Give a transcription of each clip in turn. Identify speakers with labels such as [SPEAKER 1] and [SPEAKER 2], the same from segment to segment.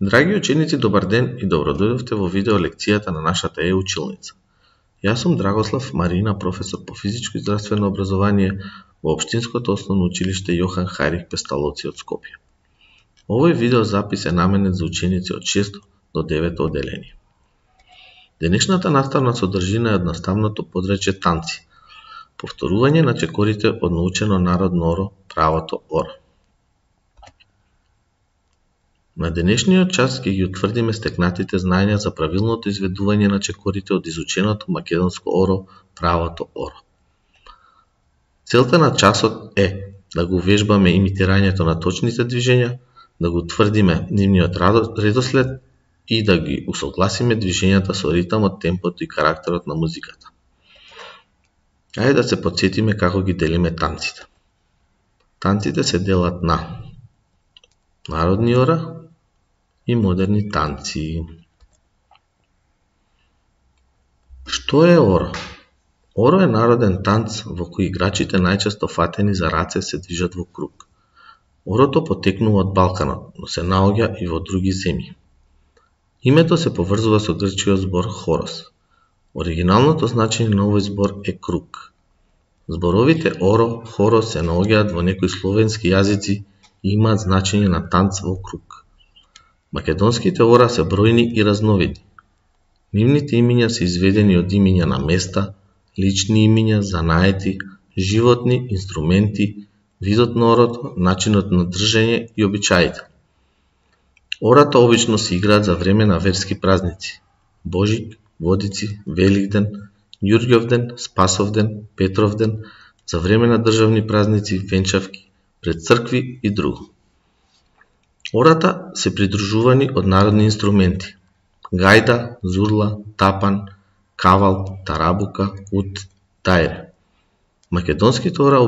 [SPEAKER 1] Драги ученици, добар ден и добродојдовте во видео лекцијата на нашата училница. Јас сум Драгослав Марина, професор по физичко и здравствено образование во Општинското основно училиште Јохан Хајрих Песталоци од Скопје. Овој видеозапис е наменет за ученици од 6 до 9 одделение. Денешната наставна содржина е едноставното подречје танци, повторување на чекорите од научено народно оро правото оро. На денешниот час ќе ги утврдиме стекнатите знаења за правилното изведување на чекорите од изученото македонско оро правото оро. Целта на часот е да го вежбаме имитирањето на точните движења, да го утврдиме нивниот редослед и да ги усогласиме движењата со ритмот, темпото и карактерот на музиката. Ајде да се потсетиме како ги делиме танците. Танците се делат на народни ора и модерни танци. Што е оро? Оро е народен танц во кој играчите најчесто фатени за раце се движат во круг. Орото потекнува од Балканот, но се наоѓа и во други земји. Името се поврзува со грчкиот збор хорос. Оригиналното значење на овој збор е круг. Зборовите оро, хорос се наоѓаат во некои словенски јазици и имаат значење на танц во круг. Македонските ора се бројни и разновидни. Нивните имиња се изведени од имиња на места, лични имиња, занаети, животни, инструменти, видот на орото, начинот на држење и обичаите. Ората обично се играат за време на верски празници: Божик, Водици, Великден, Ѓурѓовден, Спасовден, Петровден, за време на државни празници, венчавки, пред цркви и друго. Ората се придружувани од народни инструменти: гајда, зурла, тапан, кавал, тарабука, ут, тајре. Македонските ора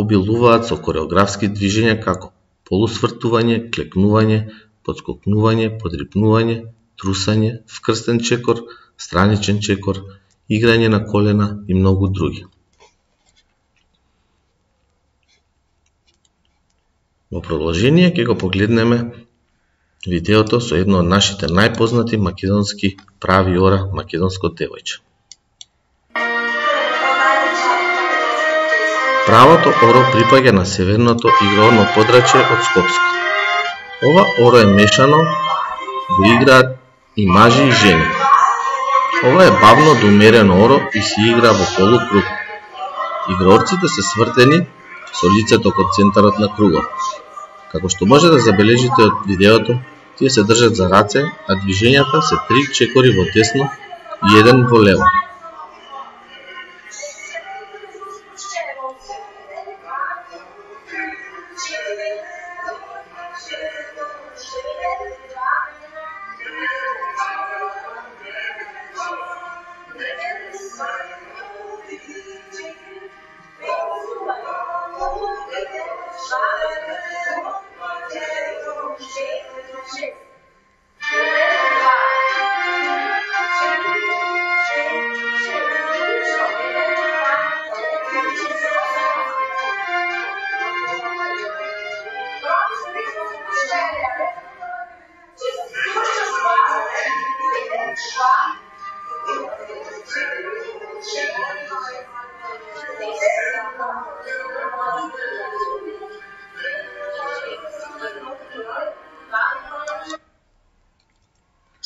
[SPEAKER 1] обилуваат со кореографски движења како полусвртување, клекнување, подскокнување, подрипнување, трусање, вкрстен чекор, страничен чекор, играње на колена и многу други. Во продолжение ќе го погледнеме видеото со едно од нашите најпознати македонски прави ора, македонско девојче. Правото оро припаѓа на северното игрално подрачје од Скопско. Ова оро е мешано, го играат и мажи и жени. Ова е бавно до умерено оро и се игра во полукруг. Игрорците се свртени со лицето кон центарот на кругот. Како што може да забележите од видеото, тие се држат за раце, а движењата се 3 чекори во десно и 1 во лево.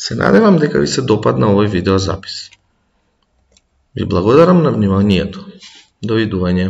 [SPEAKER 1] Се надевам дека ви се допадна овој видеозапис. Ви благодарам на вниманието. Довидување.